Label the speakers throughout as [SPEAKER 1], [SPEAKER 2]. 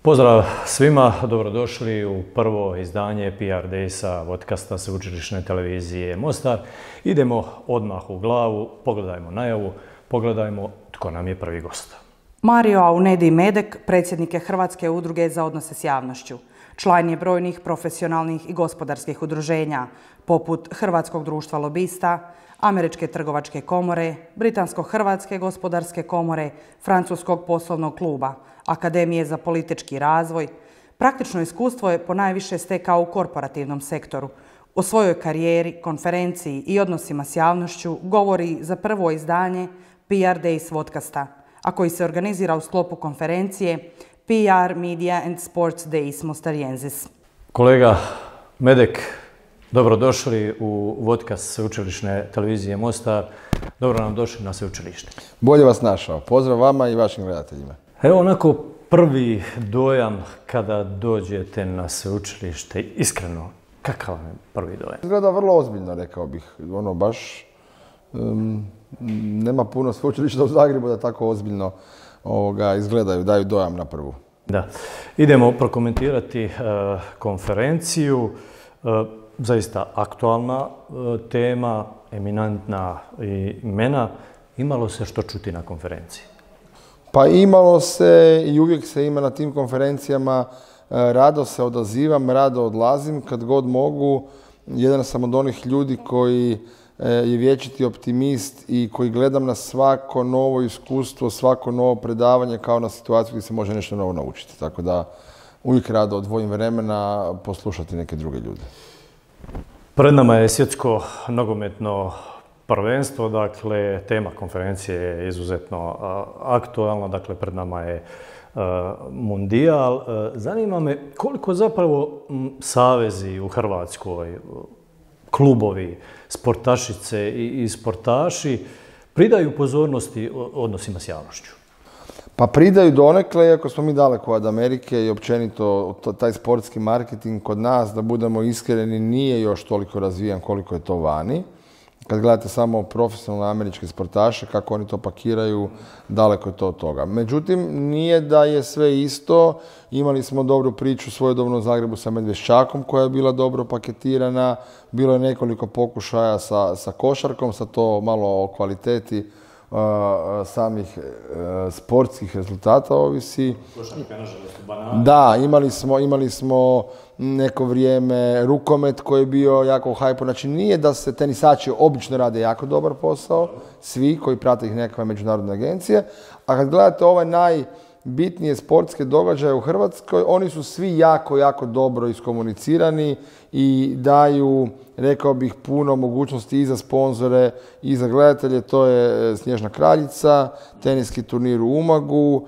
[SPEAKER 1] Pozdrav svima, dobrodošli u prvo izdanje PR Daysa podcasta Sveučilišne televizije Mostar. Idemo odmah u glavu, pogledajmo najavu, pogledajmo tko nam je prvi gost.
[SPEAKER 2] Mario Aunedi Medek, predsjednik je Hrvatske udruge za odnose s javnošću. Član je brojnih profesionalnih i gospodarskih udruženja, poput Hrvatskog društva lobista, Američke trgovačke komore, Britansko-hrvatske gospodarske komore, Francuskog poslovnog kluba, Akademije za politički razvoj. Praktično iskustvo je ponajviše stekao u korporativnom sektoru. O svojoj karijeri, konferenciji i odnosima s javnošću govori za prvo izdanje PR Days podcasta, a koji se organizira u sklopu konferencije PR Media and Sports Days Mostariensis.
[SPEAKER 1] Kolega Medek, dobrodošli u podcast Sveučilišne televizije Mostar. Dobro nam došli na sveučilište.
[SPEAKER 3] Bolje vas našao. Pozdrav vama i vašim gledateljima.
[SPEAKER 1] Evo onako prvi dojam kada dođete na sveučilište, iskreno, kakav je prvi dojam?
[SPEAKER 3] Izgleda vrlo ozbiljno, rekao bih. Baš nema puno sveučilišta u Zagrebu da tako ozbiljno izgledaju, daju dojam na prvu.
[SPEAKER 1] Da. Idemo prokomentirati konferenciju. Zaista aktualna tema, eminentna imena. Imalo se što čuti na konferenciji?
[SPEAKER 3] Pa imalo se i uvijek se ima na tim konferencijama. Rado se odazivam, rado odlazim kad god mogu. Jedan sam od onih ljudi koji je vječiti optimist i koji gledam na svako novo iskustvo, svako novo predavanje kao na situaciju gdje se može nešto novo naučiti. Tako da uvijek rado odvojim vremena poslušati neke druge ljude.
[SPEAKER 1] Pred nama je svjetsko nogometno prvenstvo, dakle tema konferencije je izuzetno aktualna, dakle pred nama je mundijal. Zanima me koliko zapravo savezi u Hrvatskoj, klubovi, sportašice i sportaši pridaju pozornosti odnosima s javnošću.
[SPEAKER 3] Pa pridaju donekle, iako smo mi daleko od Amerike i općenito taj sportski marketing kod nas, da budemo iskreni, nije još toliko razvijan koliko je to vani. Kad gledate samo profesionalne američke sportaše, kako oni to pakiraju, daleko je to od toga. Međutim, nije da je sve isto. Imali smo dobru priču svojedobno u Zagrebu sa Medveščakom koja je bila dobro paketirana. Bilo je nekoliko pokušaja sa košarkom, sa to malo o kvaliteti samih sportskih rezultata ovisi.
[SPEAKER 1] Košarka, nažalost, banana.
[SPEAKER 3] Da, imali smo neko vrijeme rukomet koji je bio jako u hajpu. Znači nije da se tenisači obično rade jako dobar posao, svi koji prate ih nekakve međunarodne agencije, a kad gledate ovaj najbitnije sportske događaje u Hrvatskoj, oni su svi jako, jako dobro iskomunicirani i daju, rekao bih, puno mogućnosti i za sponzore i za gledatelje. To je Snježna kraljica, teniski turnir u Umagu,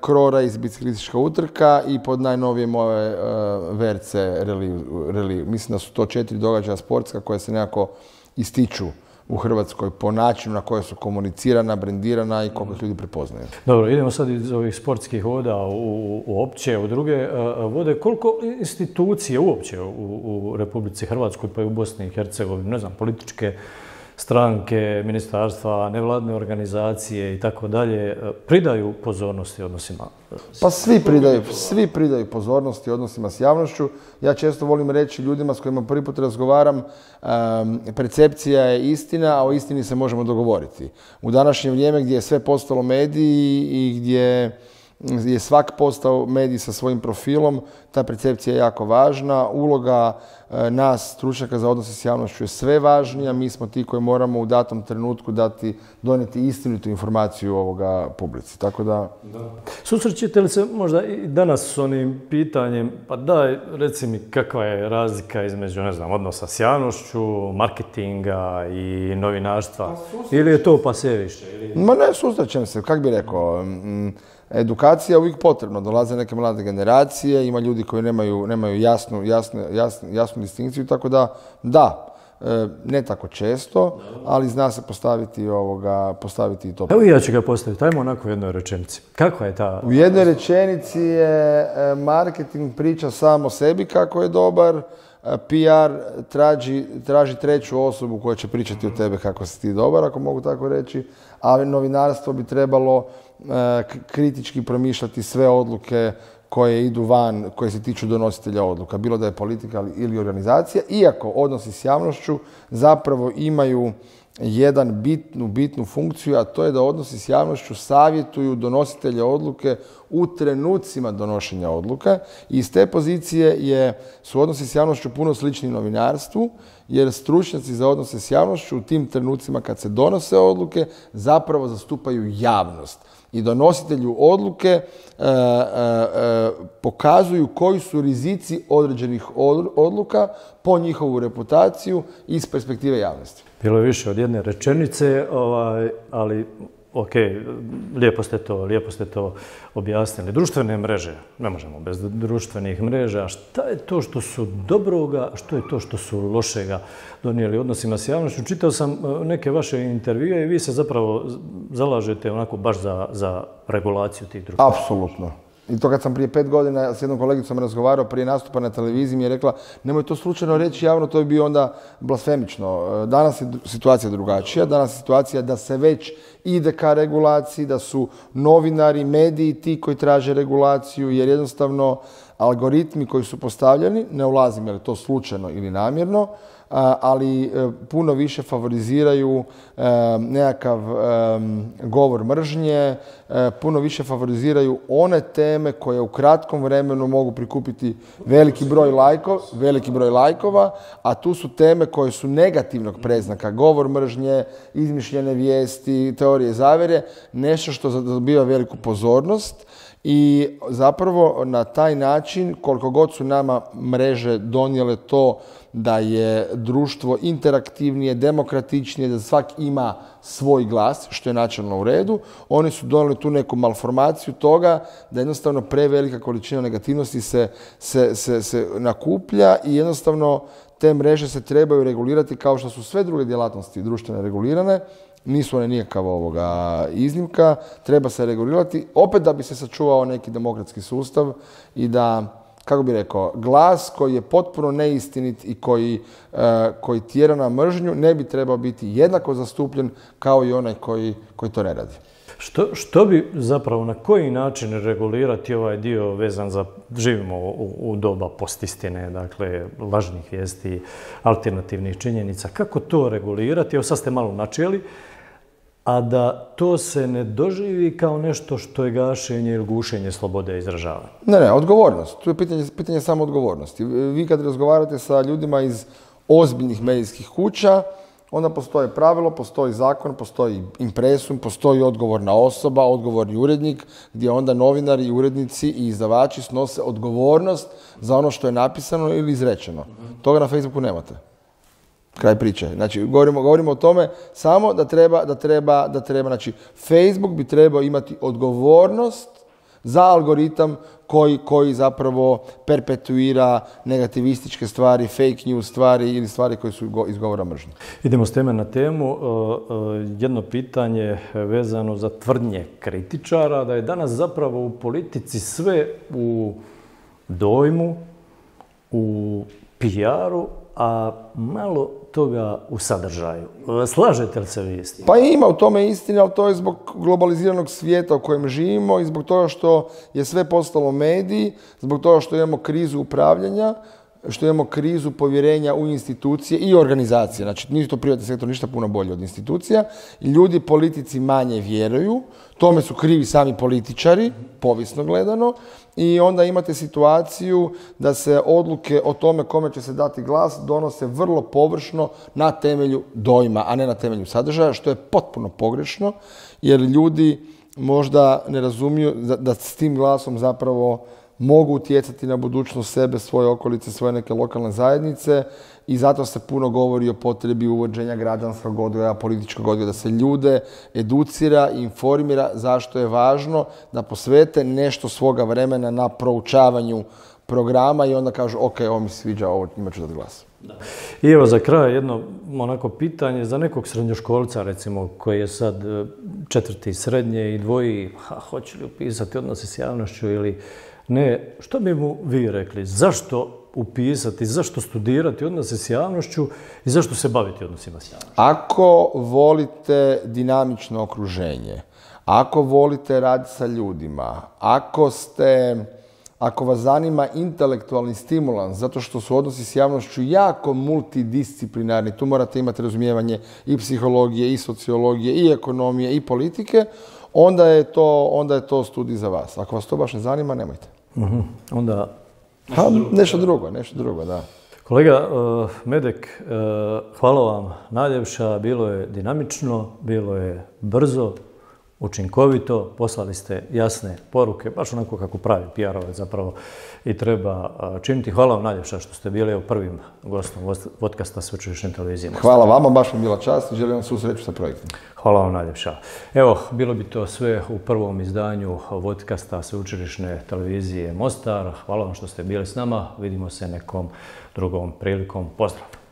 [SPEAKER 3] Krora iz biciklistička utrka i pod najnovijem ove VRC reliju. Mislim da su to 4 događaja sportska koje se nekako ističu u Hrvatskoj po načinu na koje su komunicirana, brendirana i koliko ih ljudi prepoznaju.
[SPEAKER 1] Dobro, idemo sad iz ovih sportskih voda uopće u druge vode. Koliko institucije uopće u Republici Hrvatskoj pa i u Bosni i Hercegovini, ne znam, političke stranke, ministarstva, nevladne organizacije i tako dalje, pridaju pozornosti odnosima?
[SPEAKER 3] Pa svi pridaju pozornosti odnosima s javnošću. Ja često volim reći ljudima s kojima prvi put razgovaram, percepcija je istina, a o istini se možemo dogovoriti. U današnje vrijeme gdje je sve postalo mediji i gdje je svak postao medij sa svojim profilom, ta percepcija je jako važna. Uloga nas, stručnjaka za odnose s javnošću, je sve važnija. Mi smo ti koji moramo u datom trenutku donijeti istinitu informaciju ovoga publici. Tako da...
[SPEAKER 1] Susrećete li se možda i danas s onim pitanjem, pa daj, reci mi kakva je razlika između, ne znam, odnosa s javnošću, marketinga i novinarstva? Ili je to pa sve više?
[SPEAKER 3] Ma ne, susrećem se, kak bi rekao. Edukacija je uvijek potrebna. Dolaze neke mlade generacije, ima ljudi koji nemaju jasnu distinkciju, tako da, ne tako često, ali zna se postaviti i to.
[SPEAKER 1] Evo i ja ću ga postaviti, ajmo onako u jednoj rečenici. Kakva je ta...
[SPEAKER 3] U jednoj rečenici je marketing priča sam o sebi kako je dobar, PR traži treću osobu koja će pričati o tebe kako si ti dobar, ako mogu tako reći, a novinarstvo bi trebalo kritički promišljati sve odluke koje idu van, koje se tiču donositelja odluka, bilo da je politika ili organizacija, iako odnosi s javnošću zapravo imaju jedan bitnu funkciju, a to je da odnosi s javnošću savjetuju donositelje odluke u trenucima donošenja odluka. I iz te pozicije su odnosi s javnošću puno slični novinarstvu, jer stručnjaci za odnose s javnošću u tim trenucima kad se donose odluke zapravo zastupaju javnost. I donositelju odluke pokazuju koji su rizici određenih odluka po njihovu reputaciju iz perspektive javnosti.
[SPEAKER 1] Bilo je više od jedne rečenice, ali ok, lijepo ste to objasnili. Društvene mreže, ne možemo bez društvenih mreža. Šta je to što su dobroga, što je to što su lošega donijeli odnosima s javnošću? Čitao sam neke vaše intervjue i vi se zapravo zalažete onako baš za regulaciju tih društva.
[SPEAKER 3] Apsolutno. I to kad sam prije 5 godina s jednom kolegicom razgovarao prije nastupa na televiziji mi je rekla nemoj to slučajno reći javno, to bi bio onda blasfemično. Danas je situacija drugačija, danas je situacija da se već ide ka regulaciji, da su novinari, mediji ti koji traže regulaciju jer jednostavno algoritmi koji su postavljeni, ne ulazim je li to slučajno ili namjerno, ali puno više favoriziraju nekakav govor mržnje, puno više favoriziraju one teme koje u kratkom vremenu mogu prikupiti veliki broj lajkova, a tu su teme koje su negativnog predznaka, govor mržnje, izmišljene vijesti, teorije zavjere, nešto što dobiva veliku pozornost. I zapravo na taj način, koliko god su nama mreže donijele to da je društvo interaktivnije, demokratičnije, da svak ima svoj glas, što je načelno u redu, oni su donijeli tu neku malformaciju toga da jednostavno prevelika količina negativnosti se nakuplja i jednostavno te mreže se trebaju regulirati kao što su sve druge djelatnosti društvene regulirane. Nisu one nikakva iznimka, treba se regulirati, opet da bi se sačuvao neki demokratski sustav i da, kako bih rekao, glas koji je potpuno neistinit i koji tjera na mržnju ne bi trebao biti jednako zastupljen kao i onaj koji to ne radi.
[SPEAKER 1] Što bi zapravo, na koji način regulirati ovaj dio vezan za, živimo u doba postistine, dakle lažnih vijesti, alternativnih činjenica, kako to regulirati? Evo sad ste malo načeli, a da to se ne doživi kao nešto što je gašenje ili gušenje slobode izražavanja.
[SPEAKER 3] Ne, odgovornost. Tu je pitanje samo odgovornosti. Vi kad razgovarate sa ljudima iz ozbiljnih medijskih kuća, onda postoje pravilo, postoji zakon, postoji impresum, postoji odgovorna osoba, odgovorni urednik, gdje onda novinari, urednici i izdavači snose odgovornost za ono što je napisano ili izrečeno. Toga na Facebooku nemate. Kraj priče. Znači, govorimo o tome samo da treba, znači, Facebook bi trebao imati odgovornost za algoritam koji zapravo perpetuira negativističke stvari, fake news stvari ili stvari koje su iz govora mržnje.
[SPEAKER 1] Idemo s teme na temu. Jedno pitanje vezano za tvrdnje kritičara, da je danas zapravo u politici sve u dojmu, u PR-u, a malo toga u sadržaju. Slažete li se vi s tim?
[SPEAKER 3] Pa ima u tome istine, ali to je zbog globaliziranog svijeta u kojem živimo i zbog toga što je sve postalo mediji, zbog toga što imamo krizu upravljanja, što imamo krizu povjerenja u institucije i organizacije. Znači, nije to privatni sektor ništa puno bolje od institucija. I ljudi politici manje vjeruju. Tome su krivi sami političari, povijesno gledano. I onda imate situaciju da se odluke o tome kome će se dati glas donose vrlo površno na temelju dojma, a ne na temelju sadržaja, što je potpuno pogrešno, jer ljudi možda ne razumiju da s tim glasom zapravo mogu utjecati na budućnost sebe, svoje okolice, svoje neke lokalne zajednice i zato se puno govori o potrebi uvođenja građanskog odgoja, političkog odgoja, da se ljude educira i informira zašto je važno da posvete nešto svoga vremena na proučavanju programa i onda kažu ok, ovo mi se sviđa, ovo njima ću dati glas.
[SPEAKER 1] Da. I evo za kraj jedno onako pitanje za nekog srednjoškolca recimo koji je sad 4. srednje i dvoji hoće li upisati odnose s javnošću ili ne, što bi mu vi rekli? Zašto upisati, zašto studirati odnose s javnošću i zašto se baviti odnosima s javnošću?
[SPEAKER 3] Ako volite dinamično okruženje, ako volite raditi sa ljudima, ako vas zanima intelektualni stimulans, zato što su odnosi s javnošću jako multidisciplinarni, tu morate imati razumijevanje i psihologije, i sociologije, i ekonomije, i politike, onda je to studij za vas. Ako vas to baš ne zanima, nemojte.
[SPEAKER 1] Onda
[SPEAKER 3] nešto drugo, da.
[SPEAKER 1] Kolega Medek, hvala vam najljepša, bilo je dinamično, bilo je brzo, učinkovito, poslali ste jasne poruke, baš onako kako pravi PR-ovac zapravo i treba činiti. Hvala vam najljepša što ste bili prvim gostom podcasta Sveučilišne televizije Mostar.
[SPEAKER 3] Hvala vama, baš mi je bila čast i želim vam svu sreću sa projektom.
[SPEAKER 1] Hvala vam najljepša. Evo, bilo bi to sve u prvom izdanju podcasta Sveučilišne televizije Mostar. Hvala vam što ste bili s nama, vidimo se nekom drugom prilikom. Pozdrav!